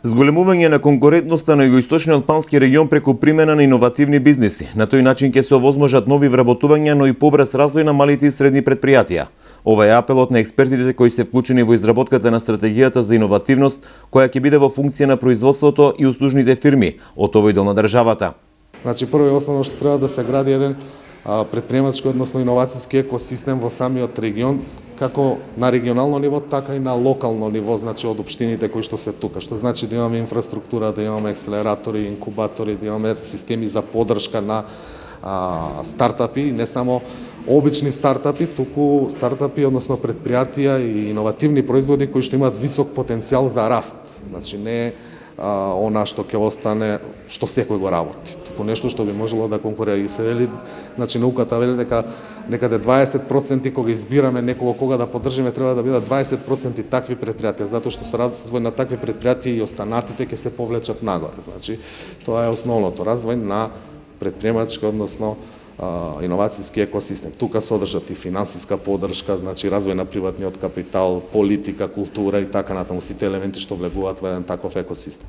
Зголемување на конкурентноста на југоисточниот Албански регион преку примена на иновативни бизниси. На тој начин ќе се овозможат нови вработувања, но и побрз развој на малите и средни предпријатија. Ова е апелот на експертите кои се вклучени во изработката на стратегијата за иновативност, која ќе биде во функција на производството и услужните фирми од овој дел на државата. Значи, прво и основно што треба да се гради еден претприемачки, односно иновацијски екосистем во самиот регион, како на регионално ниво, така и на локално ниво, значи од општините кои што се тука. Што значи да имаме инфраструктура, да имаме акселератори, инкубатори, да имаме системи за поддршка на стартапи, не само обични стартапи, туку стартапи, односно предпријатија и иновативни производи кои што имаат висок потенцијал за раст. Значи не она што ќе остане, што секој го работи. Туку нешто што би можело да конкурира. И се вели, значи науката вели дека некаде 20% кога избираме некого кога да поддржиме, треба да бидат 20% такви предпријатија, затоа што со развој на такви предпријатија и останатите ќе се повлечат нагоре. Значи тоа е основното, развој на предприемачки, односно иновацијски екосистем. Тука содржат и финансиска поддршка, значи развој на приватниот капитал, политика, култура и така натаму, сите елементи што влегуваат во еден таков екосистем.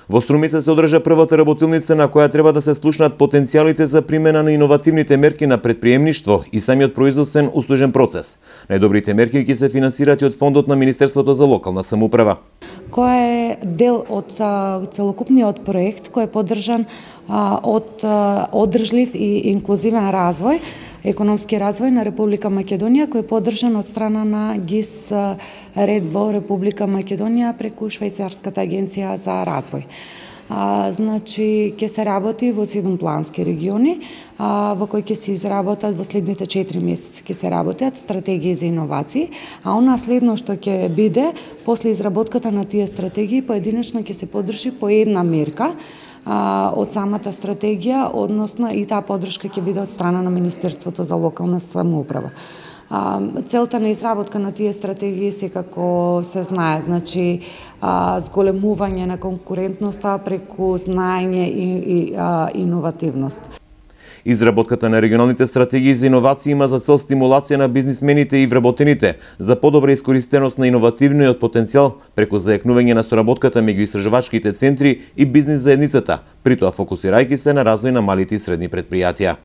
Во Струмица се одржа првата работилница на која треба да се слушнат потенцијалите за примена на иновативните мерки на предприемништво и самиот производствен услужен процес. Најдобрите мерки ќе се финансират и од фондот на Министерството за локална самоуправа, кој е дел од целокупниот проект кој е поддржан од одржлив и инклузивен развој, економски развој на Република Македонија, кој е поддржан од страна на ГИС ред во Република Македонија преку Швајцарската агенција за развој. Значи, ќе се работи во 7 плански региони, во кои ќе се изработат во следните 4 месеци ќе се работат стратегии за иновации, а она следно што ќе биде после изработката на тие стратегии, поединечно ќе се поддржи по една мерка од самата стратегија, односно и таа поддршка ќе биде од страна на Министерството за локална самоуправа. Целта на изработка на тие стратегии секако се знае, значи зголемување на конкурентноста преку знаење и иновативност. Изработката на регионалните стратегии за иновации има за цел стимулација на бизнисмените и вработените за подобра искористеност на иновативниот потенцијал преку зајакнување на соработката меѓу истражувачките центри и бизнис заедницата, при тоа фокусирајќи се на развој на малите и средни предпријатија.